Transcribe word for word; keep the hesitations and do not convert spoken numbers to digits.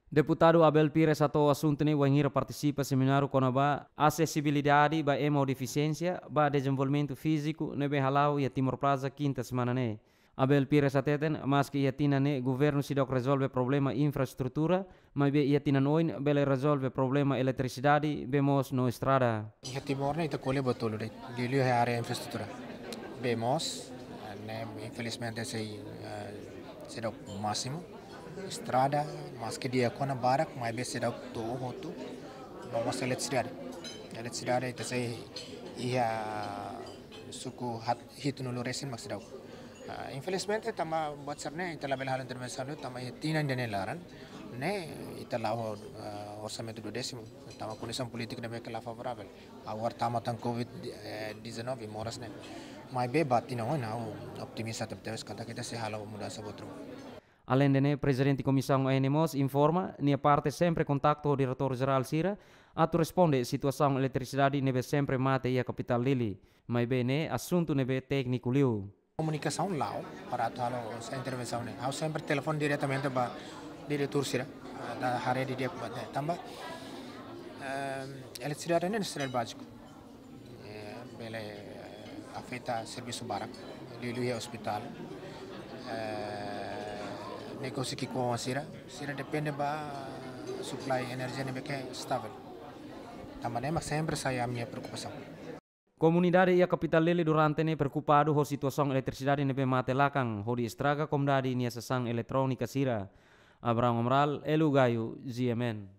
Deputadu Abel Pires hato'o asuntu ne'e wainhira partisipa semináriu kona-ba asesibilidade ba ema ho defisiénsia ba dezenvolvimentu fíziku ne'ebé hala'o iha Timor Plaza kinta semana ne'e. Abel Pires hateten, maske iha tinan ne'e governu seidauk rezolve problema infraestrutura, maibé iha tinan oin bele rezolve problema eletrisidade, bee moos no estrada. Iha Timor ne'e ita ko'alia buat tolu de'it, liuliu iha área infraestrutura. Bee moos, ne'e infelizmente sei, eh, seidauk másimu. Estrada, maske di'ak ona barak, maibé seidauk to'o hotu. No mós eletrisidade. Eletrisidade ita sei iha suku hat-, hitunulu resin mak seidauk. Ah, infelizmente, tanba buat sira-ne'e ita labele halo intervensaun, tanba iha tinan ida-ne'e laran ne'e ita la'o, ah, orsamentu duodésimu, tanba kondisaun polítika ne'ebé ke la favoravel. Agora tama tan covid, eh, dezanove, moras ne'e. Maibé ba tinan oin ha'u optimista tebetebes katak ita sei halo mudansa buat ruma. Aleinde ne'e, Prezidente Komisaun A N mós informa, nia parte sempre kontaktu ho diretór jerál sira atu responde situasaun eletrisidade ne'ebé sempre mate iha kapitál Dili. Maibé ne'e asuntu ne'ebé tékniku liu. Komunikasaun la'o para atu halo sá intervensaun ne'e. Ha'u sempre telefone diretamente ba diretór sira, ah, atu haree didi'ak buat ne'e. Tanba, ehm, eletrisidade ne'e nesesidade báziku. Eh, bele, eh, afeta servisu barak, liuliu iha ospitál. Eh, negósiu ki'ikoan sira, sira depende ba supply enerjia ne'ebé ke stavel. Tanba ne'e mak sempre sai ami-nia preokupasaun. Komunidade iha kapitál Dili durante ne'e preokupadu ho situasaun eletrisidade ne'ebé mate lakan, hodi estraga komodidade nia sasán eletrónika sira. Abraham Amaral, Elu Gayo, G M N.